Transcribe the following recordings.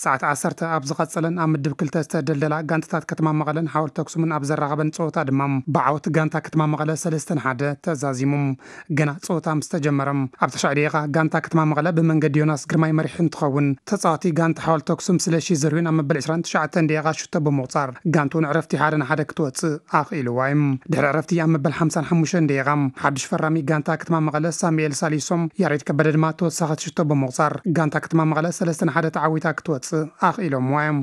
ሰዓት ዓሰርተ ኣብ ዝቐጸለን ኣብ ምድብ ክልተ ዝተደልደላ ጋንታታት ከተማ መቐለን ሓወልቲ ኣክሱምን ኣብ ዘራኸበን ጸወታ ድማ ብዓወት ጋንታ ከተማ መቐለ ሰለስተ ንሓደ ተዛዚሙ። ገና ጸወታ ምስ ተጀመረ ኣብ ተሻዕ ደቂቓ ጋንታ ከተማ መቐለ ብመንገዲ ዮናስ ግርማይ መሪሕ እንትኸውን፣ ተጻዋቲ ጋንታ ሓወልቲ ኣክሱም ስለሺ ዘርዩን ኣብ መበል ዕስራን ትሽዓተን ደቂቓ ሽቶ ብምቑጻር ጋንትኡ ንዕረፍቲ ሓደ ንሓደ ክትወጽእ ኣኽኢልዋ እዩ። ድሕሪ ዕረፍቲ ኣብ መበል ሓምሳን ሓሙሽተን ደቂቓ ሓድሽ ፈራሚ ጋንታ ከተማ መቐለ ሳሙኤል ሳሊሶም፣ ያሬድ ከበደ ድማ ተወሳኺት ሽቶ ብምቑጻር ጋንታ ከተማ መቐለ ሰለስተ ንሓደ ተዓዊታ ክትወጽእ ኣኽኢሎምዋ እዮም።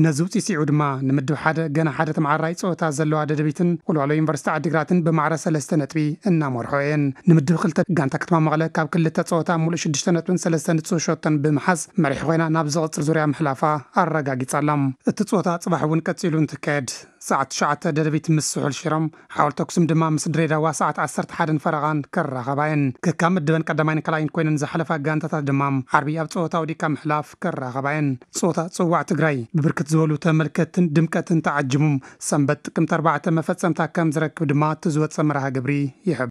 ነዚ ውፅኢት ስዒቡ ድማ ንምድብ ሓደ ገና ሓደ ተመዓራይ ፀወታ ዘለዋ ደደቢትን ወልዋሎ ዩኒቨርሲቲ ዓዲግራትን ብማዕረ ሰለስተ ነጥቢ እናመርሖ እየን። ንምድብ ክልተ ጋንታ ከተማ መቐለ ካብ ክልተ ፀወታ ሙሉእ ሽዱሽተ ነጥብን ሰለስተ ንፁህ ሸቶን ብምሓዝ መሪሕ ኮይና ናብ ዝቕፅል ዙርያ ምሕላፋ ኣረጋጊፃ ኣላ። እቲ ፀወታ ፅባሕ እውን ቀፂሉ እንትካየድ ሰዓት ትሽዓተ ደደቢት ምስ ስሑል ሽረም፣ ሓወልቲ ኣክሱም ድማ ምስ ድሬዳዋ ሰዓት ዓሰርተ ሓደን ፈረቓን ክራኸባ እየን። ከካብ ምድበን ቀዳማይን ካልኣይን ኮይነን ዝሓለፋ ጋንታታት ድማ ዓርቢ ኣብ ፀወታ ወዲቃ ምሕላፍ ክራኸባ እየን። ፀወታ ፅዋዕ ትግራይ ብብርክት ዝበሉ ተመልከትትን ድምቀትን ተዓጂቡ ሰንበት ጥቅምቲ ኣርባዕተ መፈፀምታ ከም ዝረክብ ድማ እቲ ዝወፀ መርሃ ግብሪ ይሕብር።